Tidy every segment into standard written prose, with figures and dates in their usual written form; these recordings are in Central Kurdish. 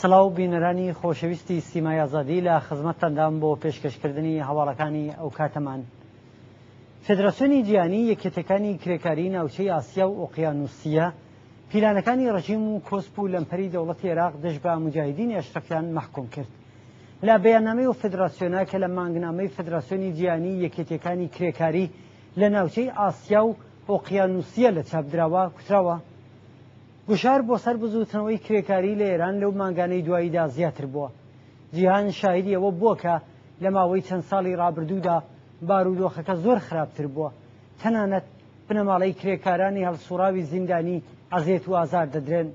سڵاو بینەرانی خۆشەویستی سیمای ئازادی لە خزمەتتاندام بۆ پێشکەشکردنی هەواڵەکانی ئەو کاتەمان. فێدراسیۆنی جیهانی یەکێتیەکانی کرێکاری ناوچەی ئاسیا و ئۆقیانوسیە پیلانەکانی ڕژیم و کۆسپ و لەمپەری دەوڵەتی عێراق دژ بە موجاهیدینی ئەشرەفیان مەحکوم کرد. لە بەیاننامەی ئەو فێدراسیۆنە کە لە مانگنامەی فێدراسیۆنی جیهانی یەکێتیەکانی کرێکاری لە ناوچەی ئاسیا و ئۆقیانوسیە لە چاپ دراوە کوتراوە، گوشار بۆ سەر بزووتنەوەی کرێکاری لە ئێران لەو مانگانەی دواییدا زیاتر بووە. جیهان شاهیدی ئەوە بووە کە لە ماوەی چەند ساڵی ڕابردوودا بارودۆخەکە زۆر خراپتر بووە. تەنانەت بنەماڵەی کرێکارانی هەڵسوڕاوی زیندانی ئەزێت و ئازار دەدرێن.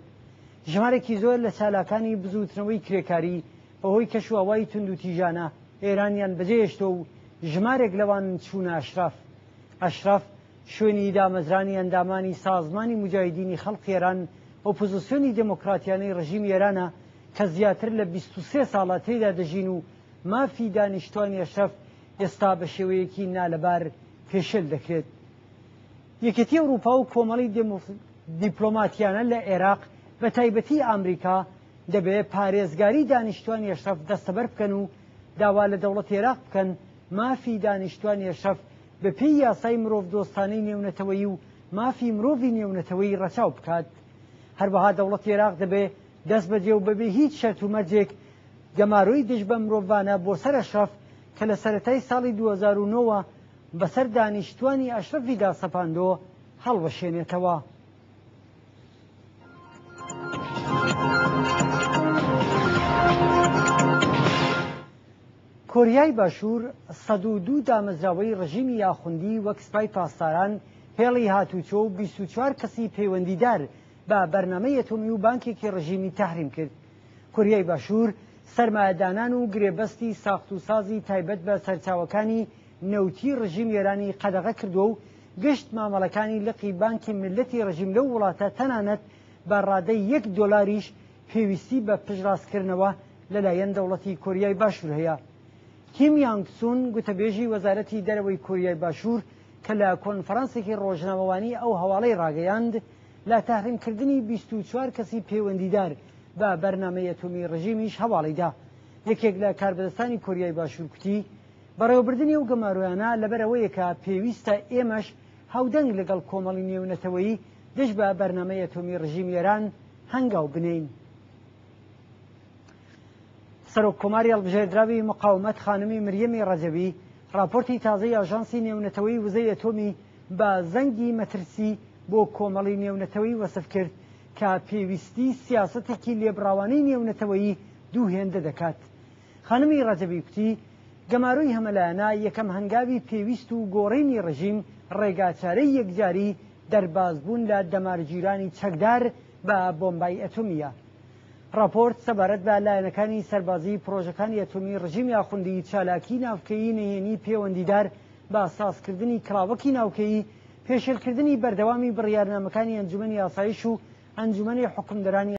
ژمارێکی زۆر لە چالاکانی بزووتنەوەی کرێکاری بەهۆی کەشوهەوای توندوتیژانە ئێرانیان بەجێهێشتووە و ژمارێک لەوان چوونە ئەشرەف. ئەشرەف شوێنی دامەزرانی ئەندامانی سازمانی موجاهیدینی خەڵقی ئێران، ئۆپۆزیسیۆنی دێمۆکراتیانەی ڕژیمی ئێرانە کە زیاتر لە 23 ساڵە تێیدا دەژین و مافی دانیشتوانی ئەشرەف ئێستا بە شێوەیەکی نالەبار پێشێل دەکرێت. یەکێتی ئەوروپا و کۆمەڵی دیپلۆماتیانە لە عێراق بە تایبەتی ئامریکا دەبێ پارێزگاری دانیشتوانی ئەشرەف دەستەبەر بکەن و داوا لە دەوڵەتی عێراق بکەن مافی دانیشتوانی ئەشرەف بە پێی یاسای مرۆڤدۆستانەی نێونەتەوەیی و مافی مرۆڤی نێونەتەوەیی ڕەچاو بکات. هەروەها دەوڵەتی عێراق دەبێ دەستبەجێ و بەبێ هیچ شەرت و مەرجێک گەمارۆی دژ بە مرۆڤانە بۆ سەر ئەشرەف کە لە سەرەتای ساڵی 2009 وە بەسەر دانیشتوانی ئەشرەفیدا سەپاندۆ هەڵوەشێنێتەوە. کۆریای باشوور 102 دامەزراوەی ڕژیمی ئاخوندی وەک سپای پاسداران، هێڵی هاتوچۆ و 24 کەسی پەیوەندیدار بە بەرنامەی ئەتۆمی و بانکێکی ڕژیمی تەحریم کرد. کۆریای باشوور سەرمایەدانان و گرێبەستی ساخت و سازی تایبەت بە سەرچاوەکانی نەوتی ڕژیمی ئێرانی قەدەغە کردووە و گشت مامەڵەکانی لقی بانکی میللەتی ڕژیم لەو وڵاتە تەنانەت بە ڕادەی یەک دۆلاریش پێویستی بە پشتڕاستکردنەوە لەلایەن دەوڵەتی کۆریای باشوور هەیە. کیم یانگ سون گوتەبێژی وەزارەتی دەرەوەی کۆریای باشوور کە لە کۆنفرانسێکی ڕۆژنامەوانی ئەو هەواڵەی ڕاگەیاند، لە تەحریمکردنی 24 کەسی پەیوەندیدار بە بەرنامەی ئەتۆمی ڕژیمیش هەواڵی دا. یەکێک لە کاربەدەستانی کۆریای باشوور کوتی، بەڕێوەبردنی ئەو گەمارۆیانە لەبەر ئەوەیە کە پێویستە ئێمەش هاودەنگ لەگەڵ کۆمەڵی نێونەتەوەیی دژ بە بەرنامەی ئەتۆمی ڕژیمی ئێران هەنگاو بنێین. سەرۆک کۆماری هەڵبژێردراوی مقاومەت خانمی مریەمی ڕەجەوی ڕاپۆرتی تازەی ئاژانسی نێونەتەوەی وزەی ئەتۆمی بە زەنگی مەترسی بۆ کۆمەڵی نێونەتەوەی وەسف کرد کە پێویستی سیاسەتێکی لێبڕاوانەی نێونەتەوەیی دوو هێندە دەکات. خانمی ڕەجەبی کوتی، گەمارۆی هەمەلایەنە یەکەم هەنگاوی پێویست و گۆڕینی ڕژیم ڕێگاچارەی یەکجاری دەربازبوون لە دەمارگیرانی چەکدار بە بۆمبای ئەتۆمییە. ڕاپۆرت سەبارەت بە لایەنەکانی سەربازیی پڕۆژەکانی ئەتۆمی ڕژیمی ئاخوندی چالاکیی ناوکەیی نهێنی پێوەندیدار بە سازکردنی کڵاوەکی ناوکەیی، پێشێلکردنی بەردەوامی بڕیارنامەکانی ئەنجومەنی ئاسایش و ئەنجومەنی حوکمدەرانی.